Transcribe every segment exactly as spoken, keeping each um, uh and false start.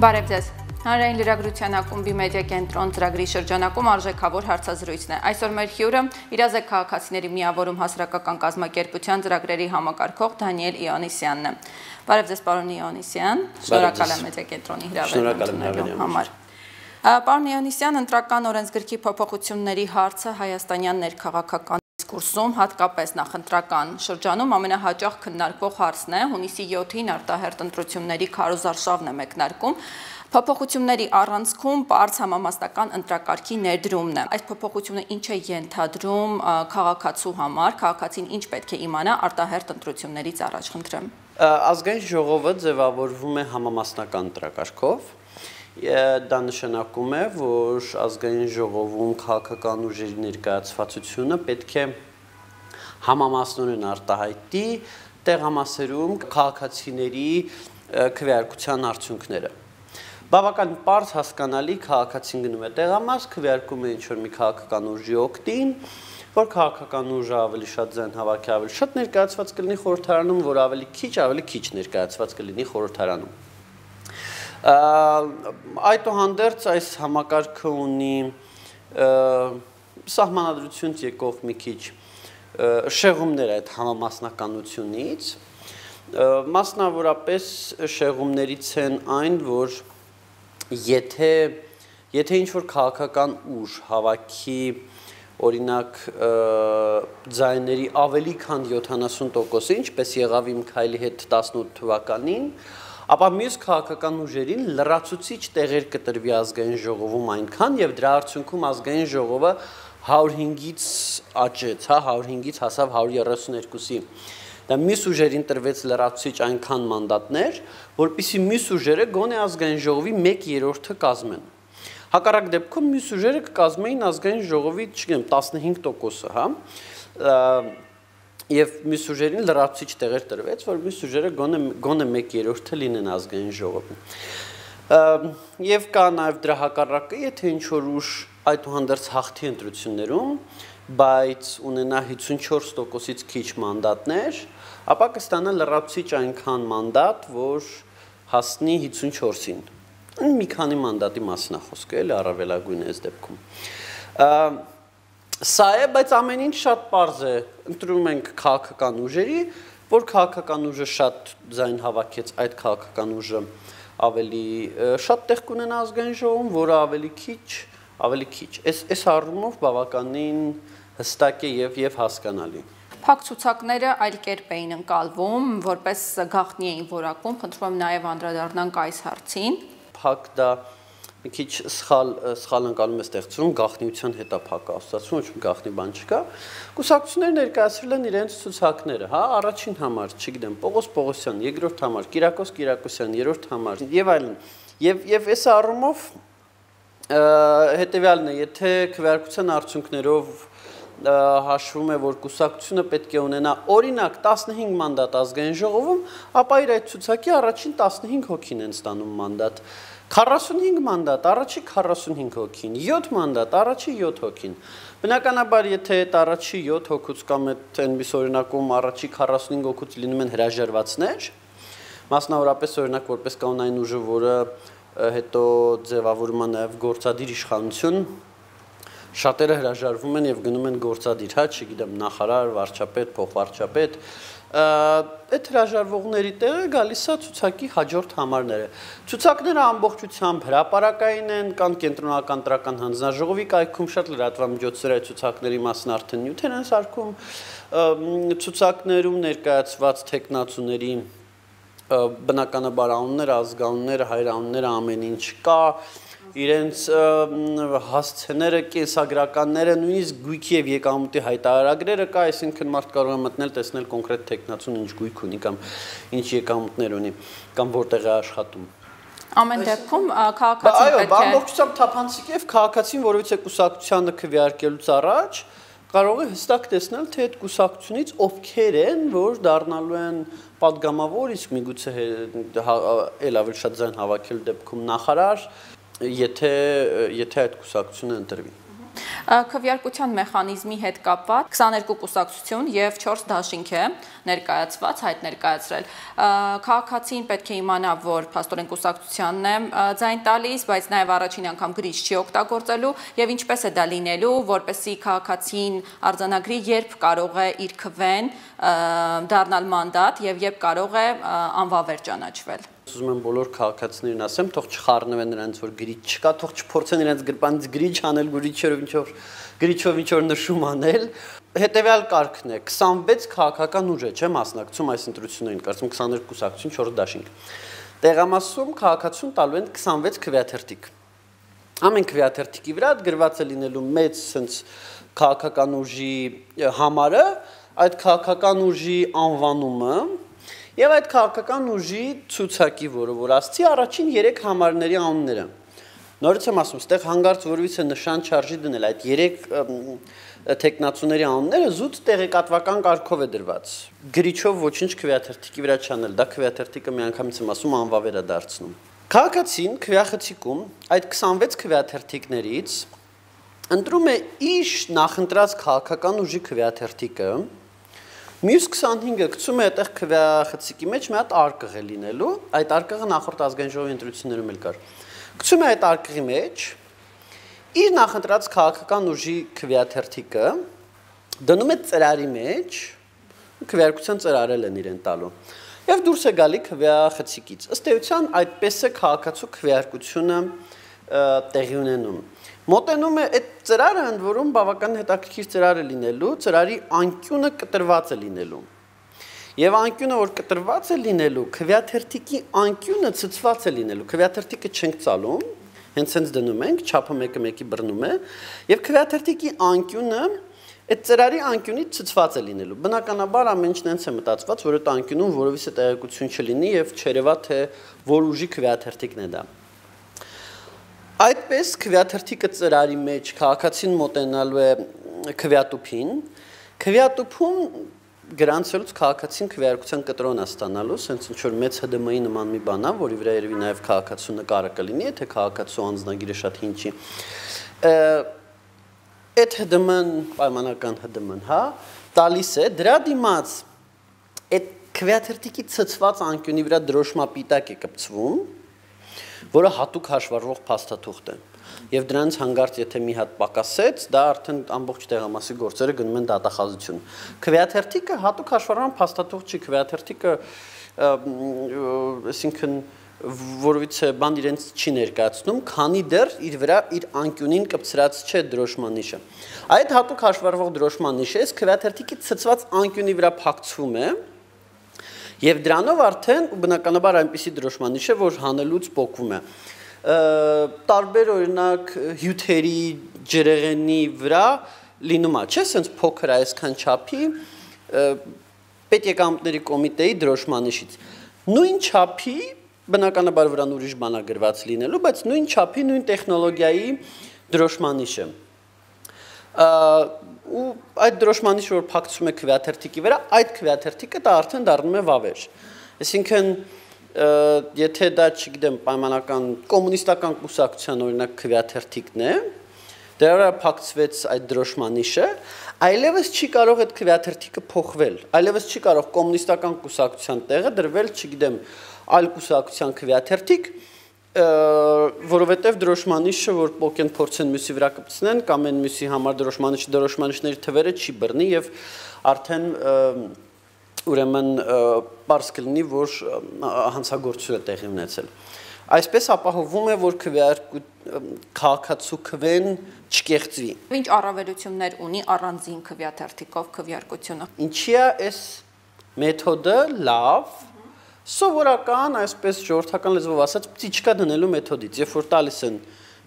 Բարև ձեզ։ Հանրային լրագրության ակումբի մեդիա կենտրոն ծրագրի շրջանակում արժեքավոր հարցազրույցն է։ Այսօր մեր հյուրը իրազեկ քաղաքացիների միավորում հասարակական կազմակերպության ծրագրերի համակարգող Դանիել Իոնիսյանն է։ Բարև ձեզ, պարոն Իոնիսյան։ Շնորհակալ եմ մեդիա կենտրոնի հրավերության համար։ Պարոն Իոնիսյան, ընտրական օրենսգրքի փոփոխությունների հարցը հայաստանյան ներքաղաքական դիսկուրսում, հատկապես նախընտրական շրջանում ամենահաճախ քննարկվող հարցն է, հունիսի յոթին արտահերթ ընտրությունների քարոզարշավն է մեկնարկում, փոփոխությունների առանցքում պարզ համամասնական ընտրակարգի ներդրումն է։ Այս փոփոխությունը ինչ է ենթադրում քաղաքացու համար, քաղաքացին ինչ պետք է իմանա արտահերթ ընտրություններից առաջ, խնդրեմ։ Ազգային ժողովը ձևավորվում է համամասնական ընտրակարգով։ Դա նշանակում է, որ ազգային ժողովում քաղաքական ուժերի ներկայացվածությունը պետք է համամասնորեն արտահայտի տեղամասերում քաղաքացիների քվեարկության արդյունքները։ Բավական պարզ հասկանալի քաղաքացին գնում է տեղամաս, քվեարկում է ինչ-որ մի քաղաքական ուժի օգտին, որ քաղաքական ուժը ավելի շատ ձայն հավաքի, ավելի շատ ներկայացված կլինի խորհրդարանում, որ ավելի քիչ, ավելի քիչ ներկայացված կլինի խորհրդարանում։ Այդուհանդերձ այս համակարգը ունի սահմանադրությունից եկող մի քիչ շեղումներ այդ համամասնականությունից, մասնավորապես շեղումներից են այն, որ եթե եթե ինչ-որ քաղաքական ուժ հավաքի օրինակ ձայների ավելի քան յոթանասուն տոկոսը, ինչպես եղավ իմ քայլի հետ տասնութ թվականին, ապա մյուս քաղաքական ուժերին լրացուցիչ տեղեր կտրվի ազգային ժողովում այնքան, եւ դրա արդյունքում ազգային ժողովը հարյուր հինգից աճեց, հա, հարյուր հինգից հասավ հարյուր երեսունյոթի։ Դա մյուս ուժերին տրվեց լրացուցիչ այնքան մանդատներ, որպեսզի մյուս ուժերը գոնե ազգային ժողովի մեկ երրորդը կազմեն։ Հակառակ դեպքում մյուս ուժերը կկազմեին ազգային ժողովի, չգիտեմ, տասնհինգ տոկոսը, հա, եւ մյուս ուժերին լրացուցիչ տեղեր տրվեց, որ մյուս ուժերը գոնե գոնե մեկ երրորդը լինեն ազգային ժողովում։ Եվ կա նաեւ դրա հակառակը, եթե ինչ-որ ուժ այդուհանդերձ հաղթի ընտրություններում, բայց ունենա հիսունչորս տոկոսից քիչ մանդատներ, ապա կստանա լրացուցիչ այնքան մանդատ, որ հասնի հիսունչորսին։ Մի քանի մանդատի մասին է խոսքը, էլի առավելագույնը այս դեպքում։ Սա է, բայց ամեն ինչ շատ պարզ է, ընտրում ենք քաղաքական ուժերի, որ քաղաքական ուժը շատ ձայն հավաքեց, այդ քաղաքական ուժը ավելի շատ տեղ կունենա ազգային ժողովում, որը ավելի քիչ, ավելի քիչ։ Այս առումով բավականին հստակ է եւ եւ հասկանալի։ Փակ ցուցակները այլ կերպ էին ընկալվում, որպես գաղտնի էին որակվում, խնդրում եմ նաեւ անդրադառնանք այս հարցին։ Փակ դա մի քիչ սխալ սխալ ընկալում է ստեղծում, գաղտնիության հետ է փակը ասացում, ոչ մի գաղտնի բան չկա։ Կուսակցությունները ներկայացրել են իրենց ցուցակները, հա, առաջին համար, չգիտեմ, Պողոս Պողոսյան, երկրորդ համար, Կիրակոս Կիրակոսյան, երրորդ համար, եւ այլն։ Եվ եւ այս առումով հետեւյալն է, եթե քվեարկության արդյունքներով հաշվում է, որ կուսակցությունը պետք է ունենա օրինակ տասնհինգ մանդատ ազգային ժողովում, ապա իր այդ ցուցակի առաջին տասնհինգ հոգին են ստանում մանդատ։ քառասունհինգ մանդատ, առաջի քառասունհինգ հոգին, յոթ մանդատ, առաջի յոթ հոգին։ Բնականաբար, եթե այդ առաջի յոթ հոգուց կամ այդ այնպես օրինակում առաջի քառասունհինգ հոգուց լինում են հրաժարվածներ, մասնավորապես օրինակ որպես կանոնային ուժը, որը հետո ձևավորում է նաև գործադիր իշխանություն, շատերը հրաժարվում են եւ գնում են գործադիր, հա, չգիտեմ, նախարար, վարչապետ, փոխվարչապետ, այդ հրաժարվողների տեղը գալիս է ցուցակի հաջորդ համարները։ Ցուցակները ամբողջությամբ հրապարակային են, կան կենտրոնական տրական հանձնաժողովի կայքում շատ լրատվամիջոցներ այդ ցուցակների մասին արդեն նյութեր են սարքում, ցուցակներում ներկայացված տեխնացուների բնականաբար անունները, ազգանունները, հայրանունները ամեն ինչ կա, իրենց հասցեները, կենսագրականները, նույնիսկ գույքի եւ եկամուտի հայտարարագրերը կա, այսինքն մարդ կարող է մտնել, տեսնել կոնկրետ տեխնացուն ինչ գույք ունի կամ ինչ եկամուտներ ունի, կամ որտեղ է աշխատում։ Ամեն դեպքում քաղաքացին պետք է։ Այո, ամբողջությամբ թափանցիկ եւ քաղաքացին, որովհետեւ կուսակցությանը քվեարկելուց առաջ կարող է հստակ տեսնել, թե այդ կուսակցությունից ովքեր են, որ դառնալու են падգամավոր, իսկ միգուցե էլ ավելի շատ ձայն հավաքելու դեպքում նախարար, եթե եթե այդ կուսակցությունը ընտրվի։ Քվեարկության մեխանիզմի հետ կապված քսաներկու կուսակցություն եւ չորս դաշինք է ներկայացված, հայտ ներկայացրել։ Քաղաքացին պետք է իմանա, որ փաստորեն կուսակցությանն է ձայն տալիս, բայց նաեւ առաջին անգամ գրիչ չի օգտագործելու եւ ինչպես է դա լինելու, որպեսզի քաղաքացին արձանագրի, երբ կարող է իր քվեն դառնալ մանդատ եւ երբ կարող է անվավեր ճանաչվել։ Ուզում եմ բոլոր քաղաքացիներին ասեմ, թող չխառնվեն նրանց, որ գրիչ չկա, թող չփորձեն իրենց գրպանից գրիչ անել, գրիչերով ինչ-որ գրիչով ինչ-որ նշում անել։ Հետևյալ կարգն է, քսանվեց քաղաքական ուժ է, չէ՞, մասնակցում այս ընտրություններին, կարծում քսաներկու կուսակցություն, չորս դաշինք։ Տեղամասում քաղաքացուն տալու են քսանվեց քվեաթերթիկ։ Ամեն քվեաթերթիկի վրա գրված է լինելու մեծ sense քաղաքական ուժի համարը, այդ քաղաքական ուժի անվանումը եւ այդ քաղաքական ուժի ցուցակի, որը որ ասցի, առաջին երեք համարների անունները։ Նորից եմ ասում, այստեղ հանգարց որևիցե նշան չարժի դնել, այդ երեք տեխնացուների անունները զուտ տեղեկատվական կարգով է դրված։ Գրիչով ոչինչ քվեաթերթիկի վրա չանել, դա քվեաթերթիկը միանգամից եմ ասում անվավեր է դարձնում։ Քաղաքացին քվեախցիկում այդ քսանվեց քվեաթերթիկներից ընտրում է իր նախընտրած քաղաքական ուժի քվեաթերթիկը, մյուս քսանհինգը գցում է այդտեղ քվեախցիկի մեջ մի հատ արկղ է լինելու, այդ արկղը նախորդ ազգային ժողովի ընտրություններում էլ կար։ Գցում է այդ արկղի մեջ իր նախընտրած քաղաքական ուժի քվեաթերթիկը, դնում է ծրարի մեջ, քվեարկության ծրարել են իրեն տալու, եւ դուրս է գալի քվեախցիկից։ Ըստ էության այդպես է քաղաքացու քվեարկությունը տեղի ունենում։ Մոտենում է այդ ծրարը, ընդ որում բավական հետաքրքիր ծրար է լինելու, ծրարի անկյունը կտրված է լինելու։ Եվ անկյունը, որ կտրված է լինելու, քվեաթերթիկի անկյունը ցցված է լինելու։ Քվեաթերթիկը չենք ծալում, հենց հենց դնում ենք, չափը մեկը մեկի բռնում է, եւ քվեաթերթիկի անկյունը այդ ծրարի անկյունից ցցված է լինելու։ Բնականաբար ամեն ինչն հենց է մտածված, որ այդ անկյունում որևիցե տեղեկություն չլինի եւ չերևա թե որ ուժի քվեաթերթիկն է դա։ Այդպես քվեաթերթիկը ծրարի մեջ քաղաքացին մոտենալու է քվեատուփին, քվեատուփում գրանցելուց քաղաքացին քվեարկության կտրոն է ստանալու, ասենց ինչ որ մեծ Հ ԴՄ ի նման մի բան է, որի վրա երևի նաև քաղաքացու նկարը կլինի, եթե քաղաքացու անձնագիրը շատ հին չի։ Այդ Հ ԴՄ-ն պայմանական Հ ԴՄ-ն, հա, տալիս է, դրա դիմաց այդ քվեաթերթիկի ցցված անկյունի վրա դրոշմապիտակ է կպցվում, որը հատուկ հաշվառվող փաստաթուղթ է։ Եվ դրանից հանգարց եթե մի հատ պակասեց, դա արդեն ամբողջ տեղամասի գործերը գնում են դատախազություն։ Քվեաթերթիկը հատուկ հաշվառման փաստաթուղթ չի, քվեաթերթիկը, այսինքն որովհետեւ բան իրենց չի ներկայացնում, քանի դեռ իր վրա իր անկյունին կպցրած չէ դրոշմանիշը։ Այդ հատուկ հաշվառվող դրոշմանիշը այս քվեաթերթիկի ցցված անկյունի վրա փակցվում է, եւ դրանով արդեն բնականաբար այնպիսի դրոշմանիշ է, որ հանելուց պոկվում է։ Տարբեր օրինակ հյութերի ջրեղենի վրա լինում է, չէ՞, sense փոքր այսքան չափի պետեկամտների կոմիտեի դրոշմանիշից։ Նույն չափի բնականաբար վրան ուրիշ բան է գրված լինելու, բայց նույն չափի, նույն տեխնոլոգիայի դրոշմանիշը։ Ու այդ դրոշմանիշը, որ փակցում է քվեաթերթիկի վրա, այդ քվեաթերթիկը դա արդեն դառնում է վավեր։ Այսինքն, եթե դա, չգիտեմ, պայմանական կոմունիստական կուսակցության օրինակ քվեաթերթիկն է, դրա վրա փակցվեց այդ դրոշմանիշը, այլևս չի կարող այդ քվեաթերթիկը փոխվել, այլևս չի կարող կոմունիստական կուսակցության տեղը դրվել, չգիտեմ, այլ կուսակցության քվեաթերթիկ, որովհետև դրոշմանիշը, որ պոկեն փորձեն մյուսի վրա կպցնեն, կամ են մյուսի համար դրոշմանիշ, դրոշմանիշների թվերը չի բռնի եւ արդեն ուրեմն պարզ կլինի, որ հանցագործություն է տեղի ունեցել։ Այսպես ապահովում է, որ քաղաքացու քվեն չկեղծվի։ Ինչ առավելություններ ունի առանձին քվեաթերթիկով քվեարկությունը։ Ինչի է այս մեթոդը լավ, սովորական, այսպես ժողովրդական լեզվով ասած, պտիչկա դնելու մեթոդից, երբ որ տալիս են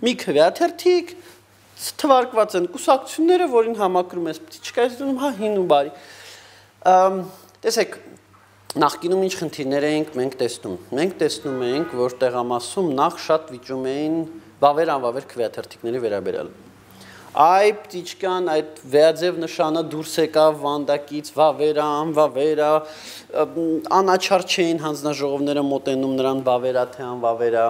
մի քվեաթերթիկ, թվարկված են կուսակցությունները, որին համակրում ես պտիչկա, ես դնում, հա, հին ու բարի։ Տեսեք, նախկինում ինչ խնդիրներ էինք մենք տեսնում։ Մենք տեսնում էինք, որ տեղամասում նախ շատ վիճում էին վավեր անվավեր քվեաթերթիկների վերաբերյալ։ Այ պտիչկան, այդ վերաձև նշանը դուրս եկավ վանդակից, վավերա, անվավերա, անաչար չէին հանձնաժողովները մոտենում նրան վավերա թե անվավերա։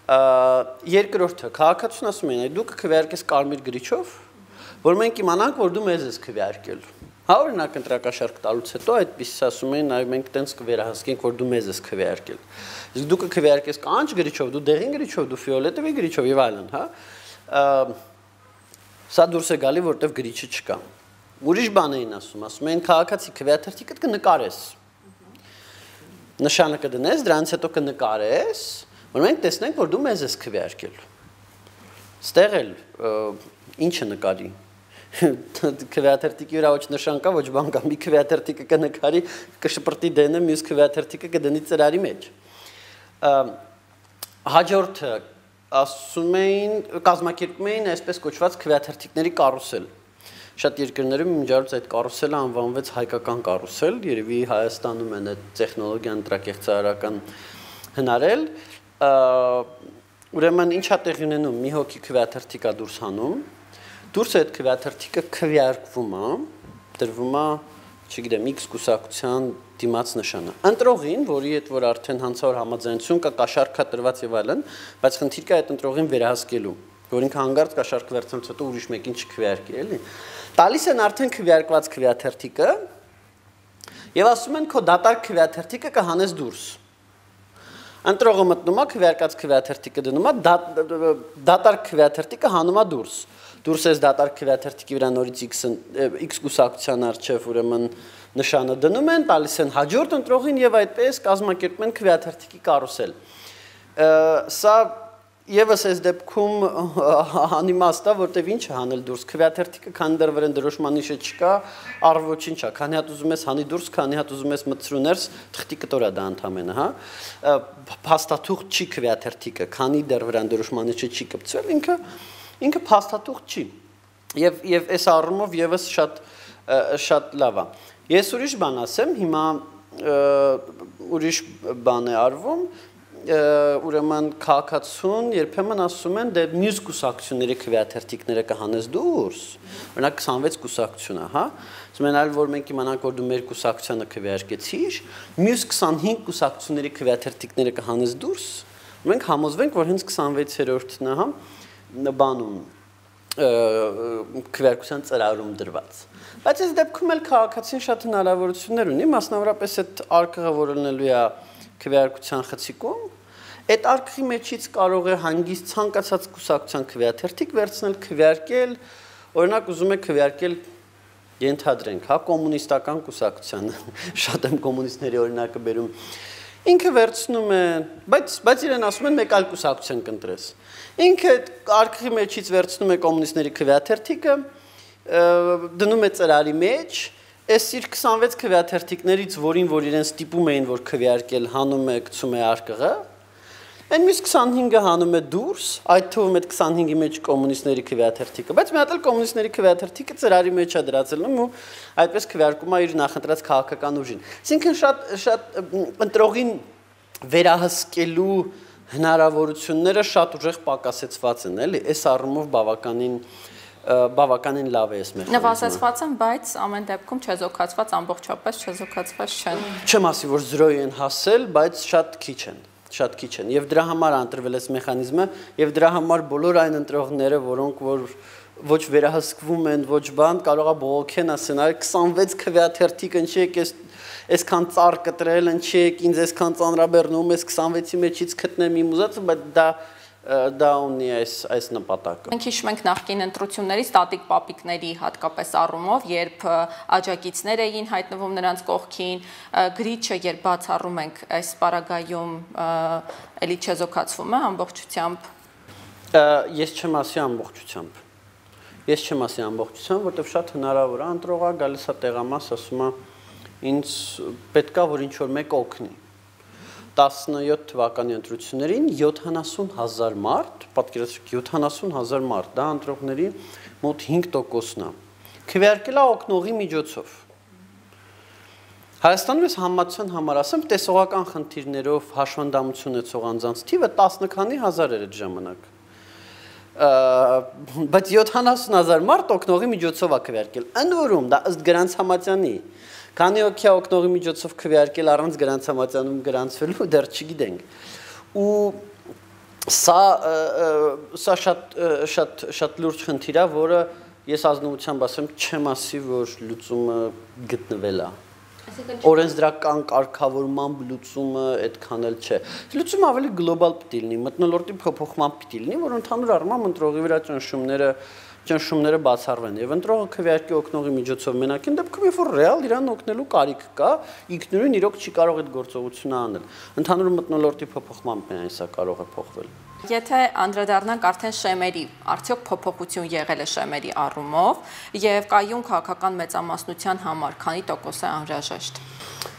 Երկրորդը, քաղաքացուն ասում են, դու կքվեարկես կարմիր գրիչով, որ մենք իմանանք, որ դու մեզ ես քվեարկել։ Հա, օրինակ ընտրակաշարք տալուց հետո այդպես ասում են, այ մենք տենց կվերահսկենք, որ դու մեզ ես քվեարկել։ Իսկ դու կքվեարկես կանաչ գրիչով, դու դեղին գրիչով, դու ֆիոլետովի գրիչով եւ այլն, հա։ Սա դուրս է գալի, որտեվ գրիչը չկա։ Ուրիշ բան էին ասում, ասում են քաղաքացի քվեաթերթիկը կնկարես։ Նշանը կդնես, դրանից հետո կնկարես, որ մենք տեսնենք, որ դու մեզ ես քվեարկել։ Ստեղ էլ ինչը նկարի։ Քվեաթերթիկի վրա ոչ նշան կա, ոչ բան կա, մի քվեաթերթիկը կնկարի, կշպրտի դենը, մյուս քվեաթերթիկը կդնի ծրարի մեջ։ Հաջորդը ասում էին, կազմակերպում էին այսպես կոչված քվեաթերթիկների կարուսել։ Շատ երկրներում միջարուց այդ կարուսելը անվանվեց հայկական կարուսել, երևի Հայաստանում են այդ տեխնոլոգիան ընտրակեղծարարական հնարել։ Ուրեմն ինչա տեղի ունենում, մի հոգի քվեաթերթիկ է դուրս հանում, դուրս այդ քվեաթերթիկը քվեարկվում է, դրվում է, չգիտեմ, X կուսակցության դիմաց նշանը։ Ընտրողին, որի հետ որ արդեն հանցավոր համաձայնություն կա, կաշառք տրված եւ այլն, բայց խնդիր կա այդ ընտրողին վերահսկելու, որ ինքը հանգարց կաշառք վերցնելուց հետո ուրիշ մեկին չքվեարկի, էլի։ Տալիս են արդեն քվեարկված քվեաթերթիկը եւ ասում են քո դատարկ քվեաթերթիկը կհանես դուրս։ Ընտրողը մտնում է, քվեարկած քվեաթերթիկը դնում է, դատարկ քվեաթերթիկը հանում է դուրս։ Դուրս ես դատարկ քվեաթերթիկի վրա նորից X կուսակցության առջև ուրեմն նշանը դնում են, տալիս են հաջորդ ընտրողին եւ այդպես կազմակերպում են քվեաթերթիկի կարուսել։ Սա եւս այս դեպքում անիմաստ է, որտեվ ինչ հանել դուրս քվեաթերթիկը, քանի դեռ վրան դրոշմանիշը չկա, առ ոչինչ է, քանի հատ ուզում ես հանի դուրս, քանի հատ ուզում ես մտցրու ներս, թղթի կտորա դա ընդամենը, հա։ Փաստաթուղթ չի քվեաթերթիկը, քանի դեռ վրան դրոշմանիշը չի կպցվել, ինքը ինքը փաստաթուղթ չի։ Եվ եւ այս առումով եւս շատ շատ լավ է։ Ես ուրիշ բան ասեմ, հիմա ուրիշ բան է արվում, ուրեմն քաղաքացուն երբեմն ասում են դե մյուս կուսակցությունների քվեաթերթիկները կհանես դուրս, օրինակ քսանվեց կուսակցությունը, հա, ասում են այլ որ մենք իմանանք որ դու մեր կուսակցությանը քվեարկեցիր, մյուս քսանհինգ կուսակցությունների քվեաթերթիկները կհանես դուրս, մենք համոզվենք որ հենց քսանվեցերորդն է, հա, բանում քվեարկության ծրարում դրված։ Բայց այս դեպքում էլ քաղաքացին շատ հնարավորություններ ունի, մասնավորապես այդ արկղը, որ լինելու է քվեարկության խցիկում, այդ արկղի մեջից կարող է հանգիստ ցանկացած կուսակցության քվեաթերթիկ վերցնել, քվեարկել, օրինակ ուզում է քվեարկել ենթադրենք, հա, կոմունիստական կուսակցությանը, շատ եմ կոմունիստների օրինակը բերում, ինքը վերցնում է, բայց բայց իրեն ասում են մեկ այլ կուսակցություն կընտրես։ Ինքը արկղի մեջից վերցնում է կոմունիստների քվեաթերթիկը, դնում է ծրարի մեջ, այս իր քսանվեց քվեաթերթիկներից, որին որ իրեն ստիպում էին, որ քվեարկել, հանում է, գցում է արկղը, այն մյուս քսանհինգը հանում է դուրս, այդ թվում այդ քսանհինգի մեջ կոմունիստների քվեաթերթիկը, բայց մի հատ էլ կոմունիստների քվեաթերթիկը ծրարի մեջ է դրածելնում ու այդպես քվեարկում է իր նախընտրած քաղաքական ուժին։ Այսինքն շատ շատ ընտրողին վերահսկելու հնարավորությունները շատ ուժեղ պակասեցված են, էլի, այս առումով բավականին բավականին լավ է այս մեխանիզմը։ Նվազեցված են, բայց ամեն դեպքում չեզոքացված ամբողջապես չեզոքացված չեն։ Չեմ ասի, որ զրոյի են հասել, բայց շատ քիչ են, շատ քիչ են։ Եվ դրա համար է ընտրվել այս մեխանիզմը, եւ դրա համար բոլոր այն ընտրողները, որոնք որ ոչ վերահսկվում են, ոչ բան, կարող է բողոքեն ասեն, այ քսանվեց քվեաթերթիկ ընչի եք այս այսքան ծառ կտրել, ընչի եք ինձ այսքան ծանրաբեռնում, այս քսանվեցի մեջից գտնեմ իմ ուզածը, բայց դա դա ունի այս այս նպատակը։ Մենք հիշում ենք նախկին ընտրությունների ստատիկ պապիկների հատկապես առումով, երբ աջակիցներ էին հայտնվում նրանց կողքին, գրիչը երբ բացառում ենք այս պարագայում էլի չեզոքացվում է ամբողջությամբ։ Ես չեմ ասի ամբողջությամբ։ Ես չեմ ասի ամբողջությամբ, որտեղ շատ հնարավոր է ընտրողը գալիս է տեղամաս, ասում է ինձ պետքա որ ինչ որ մեկ օգնի։ տասնյոթ թվականի ընտրություններին յոթանասուն հազար մարդ, պատկերացրեք յոթանասուն հազար մարդ, դա ընտրողների մոտ հինգ տոկոսն է։ Քվեարկել է օգնողի միջոցով։ Հայաստանում ես համացան համար ասեմ, տեսողական խնդիրներով հաշվանդամություն ունեցող անձանց թիվը տասը քանի հազար էր այդ ժամանակ։ Բայց յոթանասուն հազար մարդ օգնողի միջոցով է քվեարկել։ Ընդ որում դա ըստ Գրանց Համատյանի Քանի օքյա օգնողի միջոցով քվեարկել առանց Գրանց Համատյանում գրանցվելու դեռ չգիտենք։ Ու Սա սա շատ շատ շատ լուրջ խնդիր է, որը ես ազնվությամբ ասեմ, չեմ ասի, որ լուծումը գտնվել է։ Օրենսդրական կարգավորման լուծումը այդքան էլ չէ։ Լուծումը ավելի գլոբալ պիտի լինի, մթնոլորտի փոփոխման պիտի լինի, որ ընդհանուր առմամբ ընտրողի վրա ճնշումները ճնշումները բացառվեն եւ ընտրողը քվեարկի օգնողի միջոցով մենակ այն դեպքում, երբ որ ռեալ իրան օգնելու կարիք կա, ինքնուրույն իրոք չի կարող այդ գործողությունը անել։ Ընդհանուր մթնոլորտի փոփոխմամբ միայն սա կարող է փոխվել։ Եթե անդրադառնանք արդեն շեմերի, արդյոք փոփոխություն եղել է շեմերի առումով եւ կայուն քաղաքական մեծամասնության համար քանի տոկոս է անհրաժեշտ։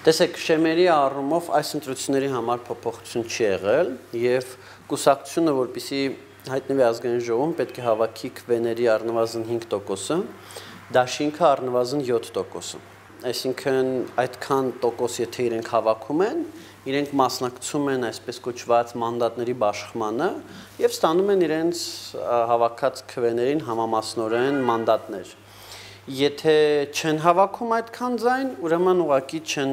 Տեսեք, շեմերի առումով այս ընտրությունների համար փոփոխություն չի եղել եւ կուսակցությունը, որպեսզի հայտնվի ազգային ժողովում, պետք է հավաքի քվեների առնվազն հինգ տոկոսը, դաշինքը առնվազն յոթ տոկոսը։ Այսինքն այդքան տոկոս եթե իրենք հավաքում են, իրենք մասնակցում են այսպես կոչված մանդատների բաշխմանը եւ ստանում են իրենց հավաքած քվեներին համամասնորեն մանդատներ։ Եթե չեն հավաքում այդքան ձայն, ուրեմն ուղղակի չեն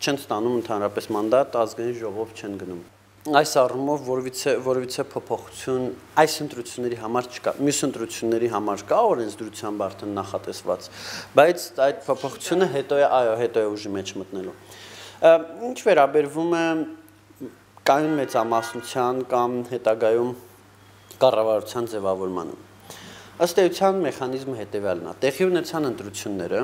չեն ստանում ընդհանրապես մանդատ, ազգային ժողով չեն գնում։ Այս առումով որևիցե որևիցե փոփոխություն այս ընտրությունների համար չկա, մյուս ընտրությունների համար կա օրենսդրությամբ արդեն նախատեսված, բայց այդ փոփոխությունը հետո է, այո, հետո է ուժի մեջ մտնելու։ Ինչ վերաբերվում է կայուն մեծամասնության կամ հետագայում կառավարության ձևավորմանը։ Ըստ էության մեխանիզմը հետևյալն է. տեղի ունեցան ընտրությունները,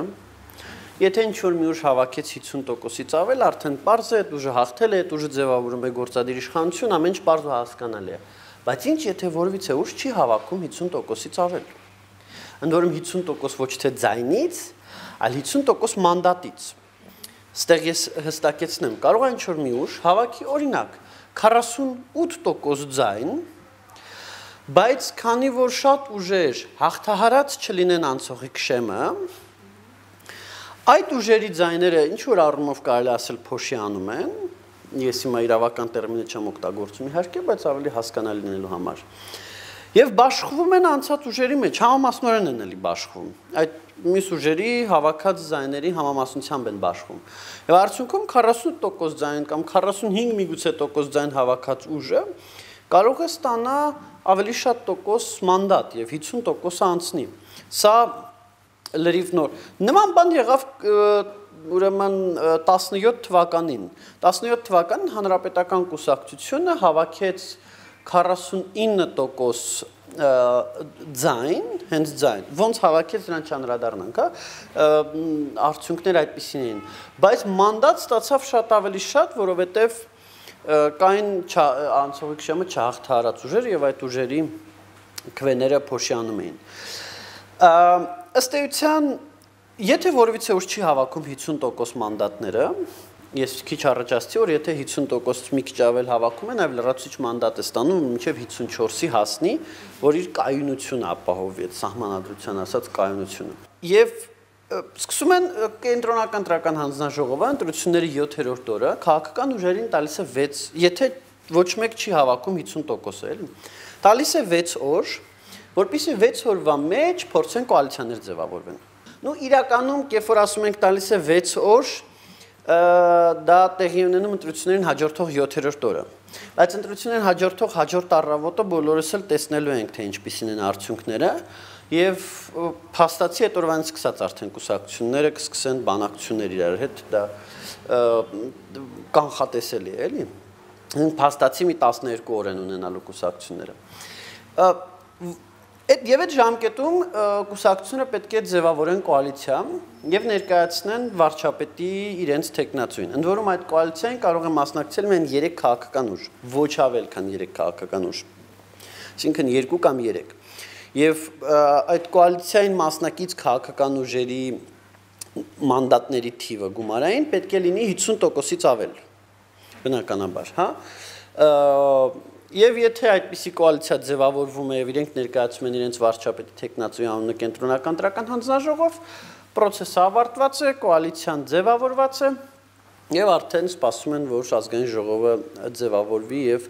եթե ինչ-որ մի ուժ հավաքեց հիսուն տոկոսից ավել, արդեն պարզ է, այդ ուժը հաղթել է, այդ ուժը ձևավորում է գործադիր իշխանություն, ամեն ինչ պարզ ու հասկանալի է։ Բայց ինչ եթե որևիցե ուժ չի հավաքում հիսուն տոկոսից ավել։ Ընդ որում հիսուն տոկոս ոչ թե ձայնից, այլ հիսուն տոկոս մանդատից։ Ստեղ ես հստակեցնեմ, կարող է ինչ-որ մի ուժ հավաքի օրինակ քառասունութ տոկոս ձայն, բայց քանի որ շատ ուժեր հաղթահարած չլինեն անցողիկ շեմը, այդ ուժերի ձայները ինչ որ առումով կարելի ասել փոշի անում են, ես հիմա իրավական տերմինը չեմ օգտագործում իհարկե, բայց ավելի հասկանալի լինելու համար։ Եվ բաշխվում են անցած ուժերի մեջ, համամասնորեն են էլի բաշխվում։ Այդ մյուս ուժերի հավաքած ձայների համամասնությամբ են բաշխվում։ Եվ արդյունքում քառասուն տոկոս ձայն կամ քառասունհինգ միգուցե տոկոս ձայն հավաքած ուժը կարող է ստանա ավելի շատ տոկոս մանդատ եւ հիսուն տոկոս անցնի։ Սա լրիվ նոր։ Նման բան եղավ ուրեմն տասնյոթ թվականին։ տասնյոթ թվականին հանրապետական կուսակցությունը հավաքեց քառասունինը տոկոս ձայն, հենց ձայն։ Ոնց հավաքեց դրան չանդրադառնանք, հա, արդյունքները այդպիսին էին։ Բայց մանդատ ստացավ շատ ավելի շատ, որովհետև կային անցողիկ շեմը չհաղթահարած ուժեր եւ այդ ուժերի քվեները փոշիանում էին։ Ըստ էության, եթե որևիցե ուժ չի հավաքում հիսուն տոկոս մանդատները, ես քիչ առաջ ասացի, որ եթե հիսուն տոկոս մի քիչ ավել հավաքում են, այլ լրացուցիչ մանդատ է ստանում մինչև հիսուն չորսի հասնի, որ իր կայունությունը ապահովի, այդ սահմանադրության ասած կայունությունը։ Եվ սկսում են կենտրոնական ընտրական հանձնաժողովը ընտրությունների յոթերորդ օրը քաղաքական ուժերին տալիս է վեց, եթե ոչ մեկ չի հավաքում հիսուն տոկոս էլի, տալիս է վեց օր, որպեսզի վեց օրվա մեջ փորձեն կոալիցիաներ ձևավորվեն։ Նու իրականում, երբ որ ասում ենք տալիս է վեց օր, դա տեղի ունենում ընտրություններին հաջորդող յոթերորդ օրը։ Բայց ընտրություններին հաջորդող հաջորդ առավոտը բոլորս էլ տեսնելու ենք, թե ինչպիսին են արդյունքները, եւ փաստացի այդ օրվանից սկսած արդեն կուսակցությունները կսկսեն բանակցություններ իրար հետ, դա կանխատեսելի է, էլի։ Փաստացի մի տասներկու օր են ունենալու կուսակցությունները։ Եվ այդ ժամկետում կուսակցությունը պետք է ձևավորեն կոալիցիա եւ ներկայացնեն վարչապետի իրենց տեխնացուին։ Ընդ որում այդ կոալիցիային կարող է մասնակցել միայն երեք քաղաքական ուժ, ոչ ավել, քան երեք քաղաքական ուժ։ Այսինքն երկու կամ երեք։ Եվ այդ կոալիցիային մասնակից քաղաքական ուժերի մանդատների թիվը գումարային պետք է լինի հիսուն տոկոսից ավել։ Բնականաբար, հա։ Եվ եթե այդպիսի կոալիցիա ձևավորվում է եւ իրենք ներկայացում են իրենց վարչապետի տեխնացուի անունը կենտրոնական ընտրական հանձնաժողով, process-ը ավարտված է, կոալիցիան ձևավորված է եւ արդեն սպասում են, որ ազգային ժողովը ձևավորվի եւ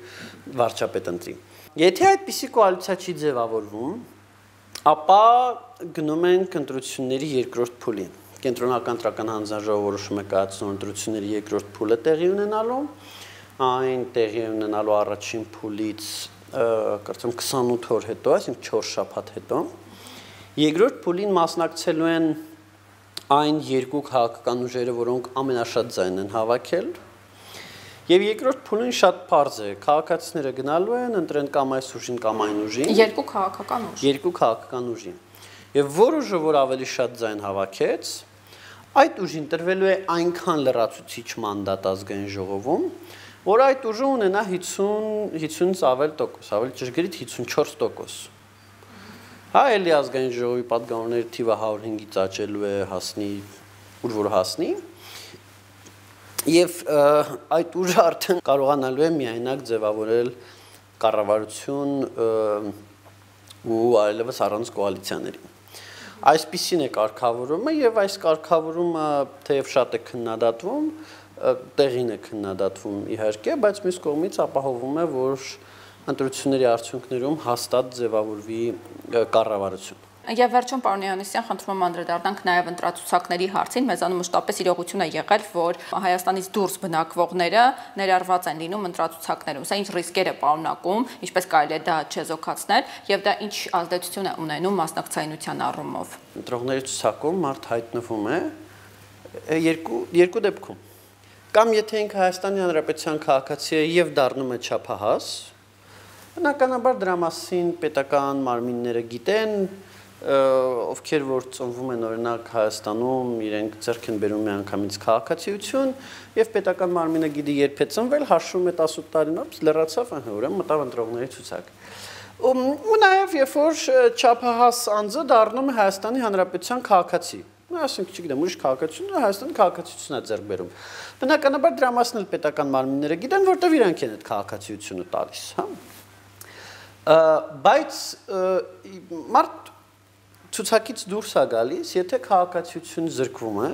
վարչապետ ընտրի։ Եթե այդպիսի կոալիցիա չի ձևավորվում, ապա գնում են ընտրությունների երկրորդ փուլի։ Կենտրոնական ընտրական հանձնաժողովը որոշում է կայացնում ընտրությունների երկրորդ փուլը տեղի ունենալու, այն տեղի ունենալու առաջին փուլից կարծեմ քսանութ օր հետո, այսինքն չորս շաբաթ հետո, երկրորդ փուլին մասնակցելու են այն երկու քաղաքական ուժերը, որոնք ամենաշատ ձայն են հավաքել, եւ երկրորդ փուլին շատ պարզ է, քաղաքացիները գնալու են, ընտրեն կամ այս ուժին, կամ այն ուժին, երկու քաղաքական ուժ, երկու քաղաքական ուժին, եւ որ ուժը, որ ավելի շատ ձայն հավաքեց, այդ ուժին տրվելու է այնքան լրացուցիչ մանդատ ազգային ժողովում, որ այդ ուժը ունենա հիսունից ավել տոկոս, ավելի ճշգրիտ հիսունչորս տոկոս։ Հա, էլի ազգային ժողովի պատգամավորների թիվը հարյուր հինգից աճելու է, հասնի, ուր որ հասնի, եւ այդ ուժը արդեն կարողանալու է միայնակ ձևավորել կառավարություն ու այլևս առանց կոալիցիաների։ Այսպիսին է կարգավորումը եւ այս կարգավորումը թեև շատ է քննադատվում, տեղին է քննադատվում իհարկե, բայց մյուս կողմից ապահովում է, որ ընտրությունների արդյունքներում հաստատ ձևավորվի կառավարություն։ Եվ վերջում պարոն Հովհաննիսյան, խնդրում եմ անդրադառնանք նաև ընտրացուցակների հարցին, մեզանում մշտապես իրողություն է եղել, որ Հայաստանից դուրս բնակվողները ներառված են լինում ընտրացուցակներում։ Սա ինչ ռիսկեր է պարունակում, ինչպես կարելի է դա չեզոքացնել, եւ դա ինչ ազդեցություն է ունենում մասնակցայնության առումով։ Ընտրողների ցուցակում մարդ հայտնվում է երկու երկու դեպքում։ Կամ եթե ինքը Հայաստանի Հանրապետության քաղաքացի է եւ դառնում է չափահաս, բնականաբար դրա մասին պետական մարմինները գիտեն, ովքեր որ ծնվում են օրինակ Հայաստանում, իրենք ձեռք են բերում միանգամից քաղաքացիություն եւ պետական մարմինը գիտի երբ է ծնվել, հաշվում է տասութ տարին, լրացավ, ուրեմն մտավ ընտրողների ցուցակ։ Ու նաեւ երբ որ չափահաս անձը դառնում է Հայաստանի Հանրապետության քաղաքացի, ասենք չգիտեմ, ուրիշ քաղաքացիություն, Հայաստանի քաղաքացիությունն է ձեռք բերում։ Բնականաբար դրա մասին էլ պետական մարմինները գիտեն, որտեղ իրանք են այդ քաղաքացիությունը տալիս, հա։ Բայց մարդ ցուցակից դուրս է գալիս, եթե քաղաքացիություն զրկվում է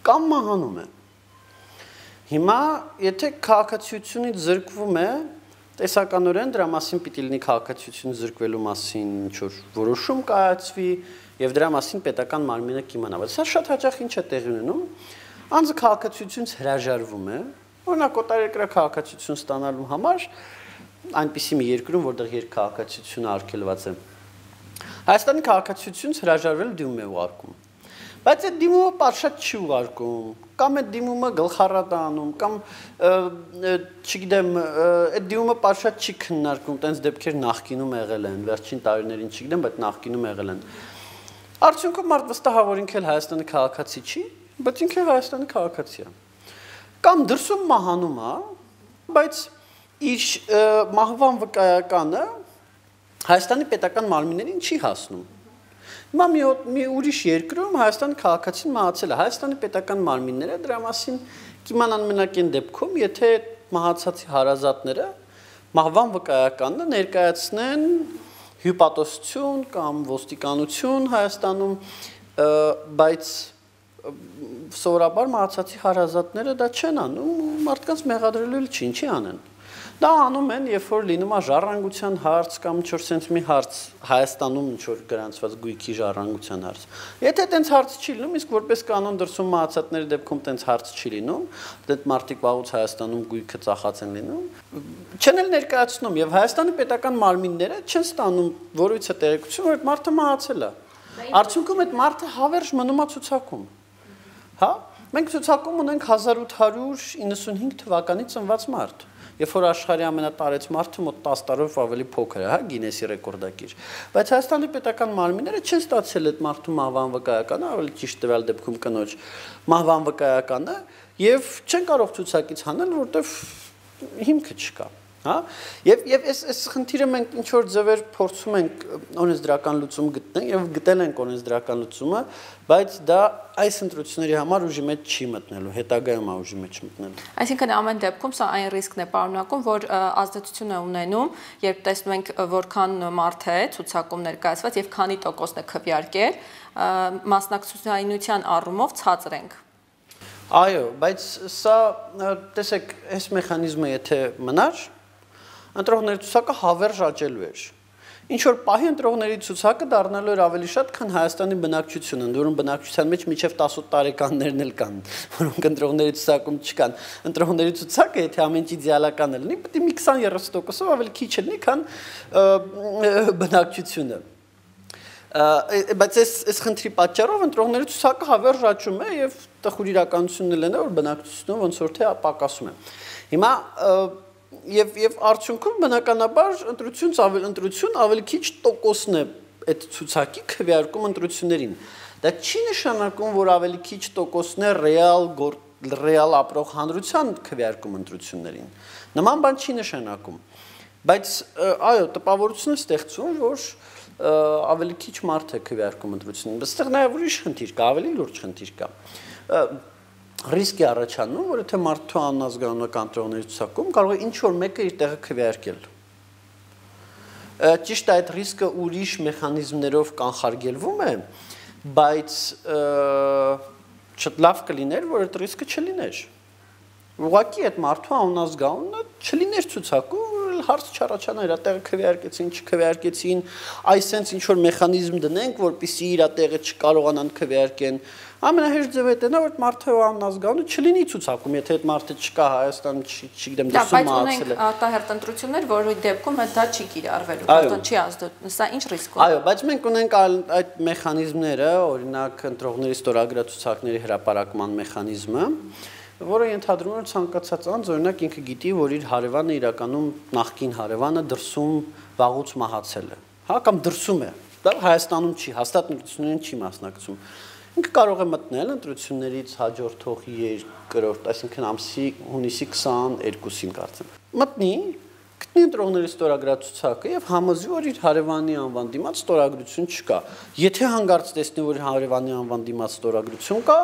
կամ մահանում է։ Հիմա եթե քաղաքացիությունից զրկվում է, տեսականորեն դրա մասին պիտի լինի քաղաքացիություն զրկվելու մասին ինչ-որ որոշում կայացվի եւ դրա մասին պետական մարմինը կիմանա։ Բայց սա շատ հաճախ ինչ է տեղի ունենում, անձը քաղաքացիությունից հրաժարվում է, օրինակ օտարերկրյա քաղաքացիություն ստանալու համար այնպիսի մի երկրում, որտեղ երկքաղաքացիությունը արգելված է։ Հայաստանի քաղաքացիությունից հրաժարվել դիմում է ուղարկում։ Բայց այդ դիմումը պատշաճ չի ուղարկում, կամ այդ դիմումը գլխառատ է անում, կամ չգիտեմ, այդ դիմումը պատշաճ չի քննարկում, տենց դեպքեր նախկինում եղել են, վերջին տարիներին չգիտեմ, բայց նախկինում եղել են։ Արդյունքում մարդ վստահավոր ինքը Հայաստանի քաղաքացի չի, բայց ինքը Հայաստանի քաղաքացի է։ Կամ դրսում մահանում է, բայց իր մահվան վկայականը Հայաստանի պետական մարմիններին չի հասնում։ Հիմա մի ուրիշ երկրում Հայաստանի քաղաքացին մահացել է, Հայաստանի պետական մարմինները դրա մասին կիմանան մենակ այն դեպքում, եթե մահացածի հարազատները մահվան վկայականը ներկայացնեն հյուպատոսություն կամ ոստիկանություն Հայաստանում, բայց սովորաբար մահացածի հարազատները դա չեն անում, մարդկանց մեղադրելու էլ չի, ինչի անեն։ Դա անում են, երբ որ լինում է ժառանգության հարց կամ ինչ-որ sense մի հարց Հայաստանում ինչ-որ գրանցված գույքի ժառանգության հարց։ Եթե այդպես հարց չի լինում, իսկ որպես կանոն դրսում մահացածների դեպքում այդպես հարց չի լինում, դեռ մարդիկ վաղուց Հայաստանում գույքը ծախած են լինում, չեն էլ ներկայացնում եւ Հայաստանի պետական մարմինները չեն ստանում որույցը տեղեկություն, որ այդ մարդը մահացել է։ Արդյունքում այդ մարդը հավերժ մնում է ցուցակում։ Հա, մենք ցուցակում ունենք հազար ութ հարյուր իննսունհինգ թվականի ծնված մարդ։ Երբ որ աշխարհի ամենատարեց մարդը մոտ տասը տարով ավելի փոքր է, հա, Գինեսի ռեկորդակիր։ Բայց Հայաստանի պետական մարմինները չեն ստացել այդ մարդու մահվան վկայականը, ավելի ճիշտ տվյալ դեպքում կնոջ մահվան վկայականը, եւ չեն կարող ցուցակից հանել, որտեվ հիմքը չկա, հա։ Եվ եւ այս այս խնդիրը մենք ինչ որ ձևեր փորձում ենք օրենսդրական լուծում գտնել եւ գտել ենք օրենսդրական լուծումը, բայց դա այս ընտրությունների համար ուժի մեջ չի մտնելու, հետագայում է ուժի մեջ մտնելու։ Այսինքն ամեն դեպքում սա այն ռիսկն է պարունակում, որ ազդեցություն է ունենում, երբ տեսնում ենք որքան մարդ է ցուցակում ներկայացված եւ քանի տոկոսն է քվեարկել, մասնակցության առումով ցածր ենք։ Այո, բայց սա տեսեք, այս մեխանիզմը եթե մնար, ընտրողների ցուցակը հավերժ աճելու էր։ ինչ որ պահի ընտրողների ցուցակը դառնալու էր ավելի շատ, քան Հայաստանի բնակչությունը, որոնց բնակչության մեջ մինչև տասոթ տարեկաններն էլ կան, որոնք ընտրողների ցուցակում չկան։ Ընտրողների ցուցակը, եթե ամեն ինչ իդեալական է լինի, պետք է մի քսան երեսուն տոկոսով ավելի քիչ լինի, քան բնակչությունը։ Բայց այս այս խնդրի պատճառով ընտրողների ցուցակը հավերժ աճում է եւ տխուր իրականությունն էլ է, որ բնակչությունը ոնց որ թե պակասում է։ Հիմա Եվ եւ արդյունքում բնականաբար ընտրությունից ավելի ընտրություն ավելի քիչ տոկոսն է այդ ցուցակի քվեարկում ընտրություններին։ Դա չի նշանակում, որ ավելի քիչ տոկոսն է ռեալ ռեալ ապրող հանրության քվեարկում ընտրություններին։ Նման բան չի նշանակում։ Բայց այո, տպավորություն է ստեղծում, որ ավելի քիչ մարդ է քվեարկում ընտրություններին։ Այստեղ նաեւ ուրիշ խնդիր կա, ավելի լուրջ խնդիր կա։ Ռիսկ է առաջանում, որ եթե մարդու անազգանունական ընտրողների ցուցակում կարող է ինչ-որ մեկը իր տեղը քվեարկել։ Ճիշտ է, այդ ռիսկը ուրիշ մեխանիզմներով կանխարգելվում է, բայց լավ կլիներ, որ այդ ռիսկը չլիներ։ Ուղղակի այդ մարդու անազգանունը չլիներ ցուցակում, հարց չառաջանա իր տեղը քվեարկեցին, չքվեարկեցին, այսենց ինչ-որ մեխանիզմ դնենք, որպեսզի իր տեղը չկարողանան քվեարկեն։ Ամենահեշտ ձևը դա է, որ մարդը անազգանունը չլինի ցուցակում, եթե այդ մարդը չկա Հայաստանում, չգիտեմ, դասում մահացել է։ Բայց ունենք արտահերտ ընտրություններ, որի դեպքում դա չի կիրառվելու, որտեղ չի ազդու։ Սա ինչ ռիսկ ունի։ Այո, բայց մենք ունենք այդ մեխանիզմները, օրինակ ընտրողների ստորագրացուցակների հրապարակման մեխանիզմը, որը ենթադրում է ցանկացած անձ, օրինակ ինքը գիտի, որ իր հարևանը իրականում նախկին հարևանը դրսում վաղուց մահացել է։ Հա, կամ դրսում է։ Դա Հայաստանում չի, հաստատ ընտրություններին չի մասնակցում։ Ինքը կարող է մտնել ընտրություններից հաջորդող երկրորդ, այսինքն ամսի հունիսի քսաներկուսին կարծեմ։ Մտնի, գտնի ընտրողների ստորագրացուցակը եւ համոզվի, որ իր հարևանի անվան դիմաց ստորագրություն չկա։ Եթե հանգարց տեսնի, որ հարևանի անվան դիմաց ստորագրություն կա,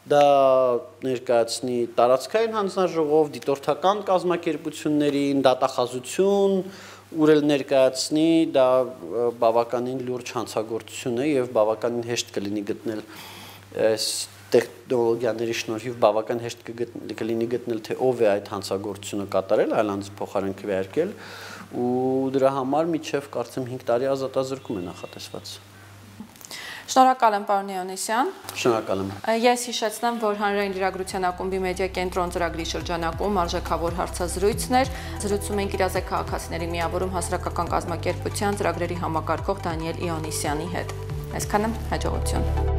դա ներկայացնի տարածքային հանձնաժողով, դիտորդական կազմակերպություններին, դատախազություն, ուրել ներկայացնի, դա բավականին լուրջ հանցագործություն է եւ բավականին հեշտ կլինի գտնել այս տեխնոլոգիաների շնորհիվ բավական հեշտ կլինի գտնել, թե ով է այդ հանցագործությունը կատարել, այլ անձ փոխարեն քվեարկել, ու դրա համար միջև կարծեմ հինգ տարի ազատազրկում է նախատեսված։ Շնորհակալ եմ, պարոն Իոնիսյան։ Շնորհակալ եմ։ Ես հիշեցնեմ, որ հանրային լրագրության ակումբի մեդիա կենտրոն ծրագրի շրջանակում արժեքավոր հարցազրույցներ զրուցում ենք իրազեկ քաղաքացիների միավորում հասարակական կազմակերպության ծրագրերի համակարգող Դանիել Իոնիսյանի հետ։ Այսքանը հաջողություն։